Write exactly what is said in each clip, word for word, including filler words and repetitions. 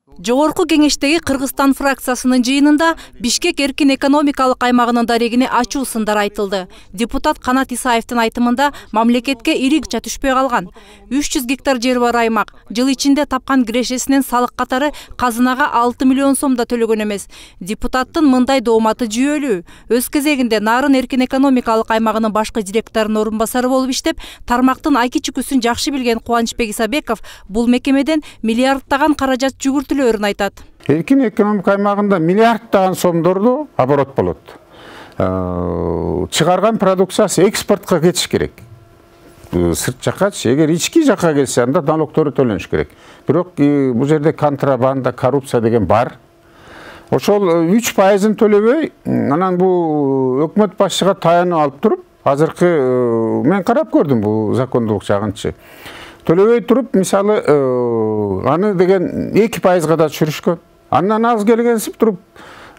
Жогорку кеңештеги Кыргызстан фракциясынын жыйынында Бишкек эркин экономикалык аймагынын дарегине ачуу сындар айтылды. Депутат Канат Исаевдин айтымында мамлекетке ири акча түшпөй калган. үч жүз гектар жер бар аймак жыл ичинде тапкан кирешесинен салык катары казынага алты миллион сом да төлөгөн эмес. Депутаттын мындай дооматы жүйөлүү. Өз кезегинде Нарын эркин экономикалык аймагынын башкы директорунун орун басары болуп иштеп, тармактын айки чүкүсүн жакшы билген Кубанычбек Исабеков бул мекемеден миллиардтаган каражат жүгүртүлөөрүн айтат. Эркин экономика аймагында миллиардтаган сомдорду оборот болот. Чыгарган продукциясы экспортко кетиш керек. Сырт жакачы, эгер ички жакка келсе, анда налогтору төлөнүш керек. Бирок бул жерде контрабанда, коррупция деген бар. Ошол үч пайызын төлөбөй, анан бул өкмөт башчыга таянып алып туруп, азыркы мен карап көрдүм бул закондуулук жагынчы. Төлөбөй туруп, мисалы, аны деген эки пайызга да түшүрүшкөн. Андан аз келгенсип туруп,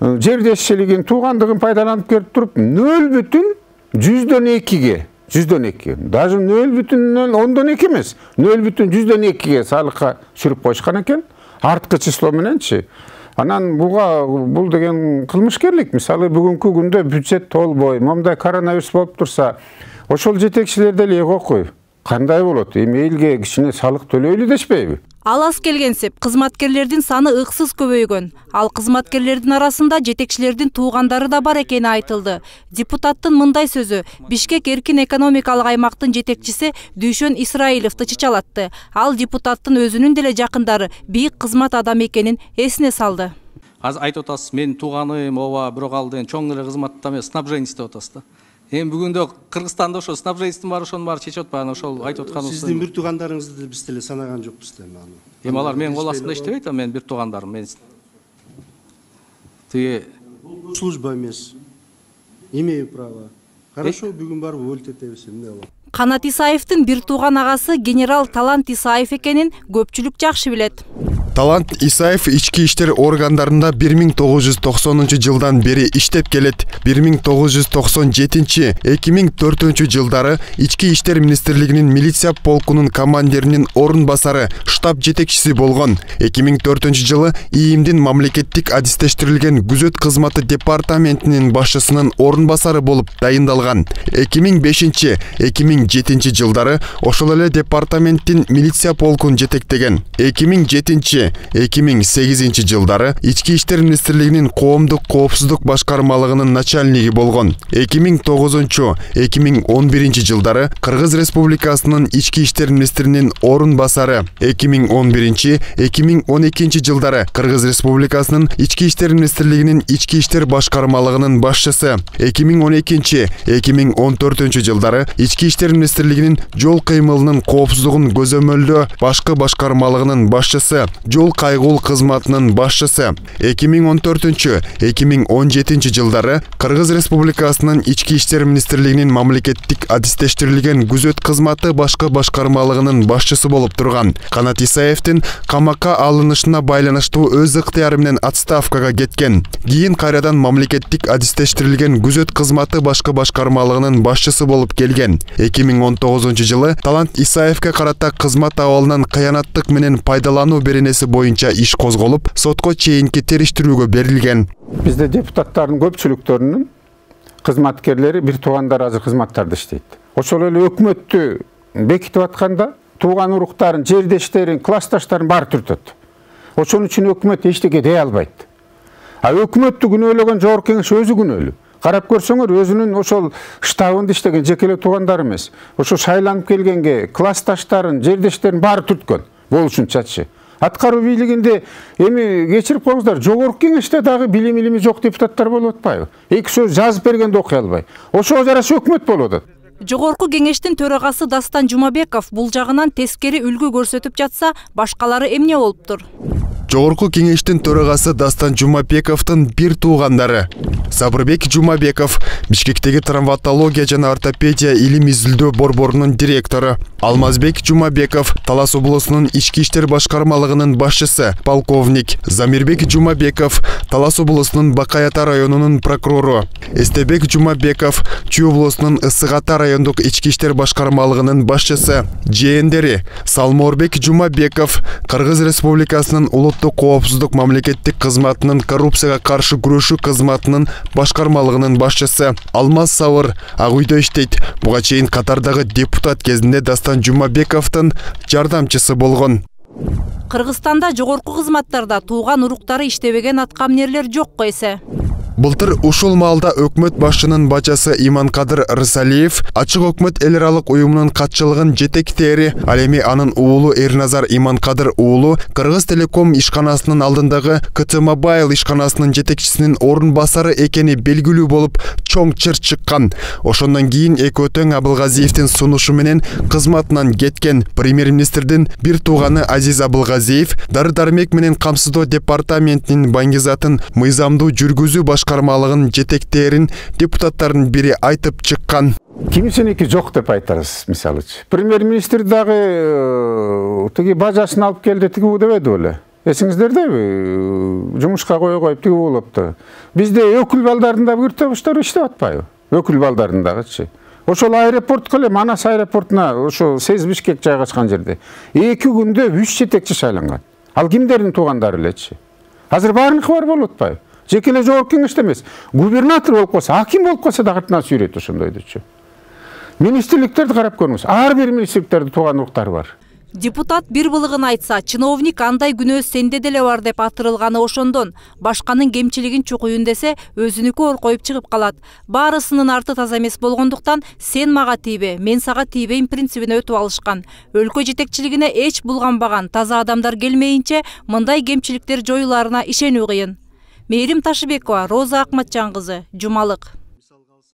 жердешчилигин, туугандыгын пайдаланып келип туруп, нөл бүтүн жүздөн экиге, жүздөн эки. Даже нөл бүтүн ондон эки эмес, нөл бүтүн жүздөн экиге салыкка түшүрүп койушкан экен. Арткы число мененчи. Анан буга бул деген кылмышкерлик. Мисалы, бүгүнкү күндө бюджет толбой, момдай коронавирус болуп турса, ошол жетекчилер деле окуй. Кандай болот? Эми элге кичине салык төлөйлү дешпейби? Ал аз келгенсип, кызматкерлердин саны ыксыз көбөйгөн. Ал кызматкерлердин арасында жетекчилердин туугандары да бар экени айтылды. Депутаттын мындай сөзү Бишкек эркин экономикалык аймактын жетекчиси Дүйшөн Исраиловду чычалатты. Ал депутаттын өзүнүн деле жакындары бийик кызмат адамы экенин эсине салды. Азыр айтып атасыз, мен тууганым, ооба, бирок ал деген чоң эле кызматта эмес, снабженец деп атасыз да. Эми бүгүндө Кыргызстанда ошо снабженецтин баары ошонун баары чечип атпайбы, ошол айтып атканыбыз. Сиздин бир туугандарыңызды биз деле санаган жокпуз да эми аны. Эми алар менин кол астында иштебейт, мен бир туугандарым, мен тиги служба эмес. Имею право. Хорошо, бүгүн барып өлтетебиз, эмне болот? Канат Исаевдин бир тууган агасы генерал Талант Исаев экенин көпчүлүк жакшы билет. Талант Исаев ички иштер органдарында бир миң тогуз жүз токсонунчу жылдан бери иштеп келет. бир миң тогуз жүз токсон жетинчи — эки миң төртүнчү жылдары ички иштер министрлигинин милиция полкунун командиринин орун басары, штаб жетекчиси болгон. эки миң төртүнчү жылы ИИМдин мамлекеттик адистештирилген күзөт кызматы департаментинин башчысынын орун басары болуп дайындалган. эки миң бешинчи — эки миң жетинчи жылдары ошол эле департаменттин милиция полкун жетектеген. эки миң жетинчи — эки миң сегизинчи жылдары ички иштер министрлигинин коомдук коопсуздук башкармалыгынын начальниги болгон. эки миң тогузунчу — эки миң он биринчи жылдары Кыргыз Республикасынын ички иштер министринин орун басары. эки миң он биринчи — эки миң он экинчи жылдары Кыргыз Республикасынын ички иштер министрлигинин ички иштер башкармалыгынын башчысы. эки миң он экинчи — эки миң он төртүнчү жылдары ички иштер министрлигинин жол кыймылынын коопсуздугун көзөмөлдөө башкы башкармалыгынын башчысы, жол кайгул кызматынын башчысы. эки миң он төртүнчү — эки миң он жетинчи жылдары Кыргыз Республикасынын ички иштер министрлигинин мамлекеттик адистештирилген күзөт кызматы башкы башкармалыгынын башчысы болуп турган. Канат Исаевдин камакка алынышына байланыштуу өз ыктыяры менен отставкага кеткен. Кийин кайрадан мамлекеттик адистештирилген күзөт кызматы башкы башкармалыгынын башчысы болуп келген. эки миң он тогузунчу жылы Талант Исаевге карата кызмат абалынан кыянаттык менен пайдалануу беренеси боюнча иш козголуп, сотко чейинки териштирүүгө берилген. Бизде депутаттардын көпчүлүктөрүнүн кызматкерлери бир туугандар азыр кызматтарда иштейт. Ошол эле өкмөттү бекитип атканда тууган уруктарын, жердештерин, классташтарын баары түртөт. Ошон үчүн өкмөт эчтеке дей албайт. А өкмөттү күнөөлөгөн жогорку кеңеш өзү күнөөлүү. Карап көрсөңөр, өзүнүн ошол штабында иштеген жекеле туугандары эмес, ошо шайланып келгенге классташтарын, жердештерин баары түрткөн болушунчачы. Аткаруу бийлигинде эми кечирип коюңуздар, жогорку кеңеште дагы билим илими жок депутаттар болуп атпайбы? Эки сөз жазып бергенде окуй албай. Ошого жараша өкмөт болуп атат. Жогорку кеңештин төрагасы Дастан Жумабеков бул жагынан тескери үлгү көрсөтүп жатса, башкалары эмне болуптур? Жогорку кеңештин төрагасы Дастан Жумабековдун бир туугандары Сабырбек Жумабеков, Бишкектеги травматология жана ортопедия илим изилдөө борборунун директору. Алмазбек Жумабеков, Талас облусунун ички иштер башкармалыгынын башчысы, полковник. Замирбек Жумабеков, Талас облусунун Бакай Ата районунун прокурору. Эстебек Жумабеков, Чүй облусунун Ысык Ата райондук ички иштер башкармалыгынын башчысы. Жээндери Салморбек Жумабеков, Кыргыз Республикасынын улуттук коопсуздук мамлекеттик кызматынын коррупцияга каршы күрөшүү кызматынын башкармалыгынын башчысы. Алмаз Сабыр Ак үйдө иштейт. Буга чейин Катардагы депутат кезинде Дастан Жумабековдун жардамчысы болгон. Кыргызстанда жогорку кызматтарда тууган уруктары иштебеген аткаминерлер жокко эсе. Былтыр ушул маалда өкмөт башчынын бачасы Иманкадыр Рысалиев Ачык өкмөт эл аралык уюмунун катчылыгын жетектери, ал эми анын уулу Эрназар Иманкадыр уулу Кыргыз Телеком ишканасынын алдындагы К Т Mobile ишканасынын жетекчисинин орун басары экени белгилүү болуп чоң чыр чыккан. Ошондон кийин экөө тең Абылгазиевдин сунушу менен кызматынан кеткен премьер-министрдин бир тууганы Азиз Абылгазиев дары-дармек менен камсыздоо департаментинин баңгизатын мыйзамдуу жүргүзүү башкармалыгын жетектерин депутаттардын бири айтып чыккан. Кимисиники жок деп айтарыз, мисалычы. Премьер-министр дагы тиги бажасын алып келди, тиги бу дебеди беле. Эсиңиздердеби? Жумушка кое коюп тиги болупту. Бизде өкүл балдарында биртебиштер иштеп атпайбы? Өкүл балдарындагычы. Ошол аэропортко эле Манас аэропортуна ошо Сез Бишкек жайгашкан жерде эки күндө үч жетекчи шайланган. Ал кимдердин туугандары элечи? Азыр баарыныкы бар болуп атпайбы? Жеке эле жогорку кеңеште эмес, губернатор болуп калса, аким болуп калса да артынан сүйрөйт ошондойдучу. Министрликтерди карап көрүңүз. Ар бир министрликтерде тууган уруктары бар. Депутат бир былыгын айтса, чиновник андай күнөө сенде деле бар деп атырылганы ошондон. Башканын кемчилигин чукуйун десе, өзүнүкү ор коюп чыгып калат. Баарысынын арты таза эмес болгондуктан, сен мага тийбе, мен сага тийбейм принцибине өтүп алышкан. Өлкө жетекчилигине эч булганбаган таза адамдар келмейинче, мындай кемчиликтер жоюларына ишенүү кыйын. Мээрим Ташыбекова, Роза Акматжан кызы, Жумалык.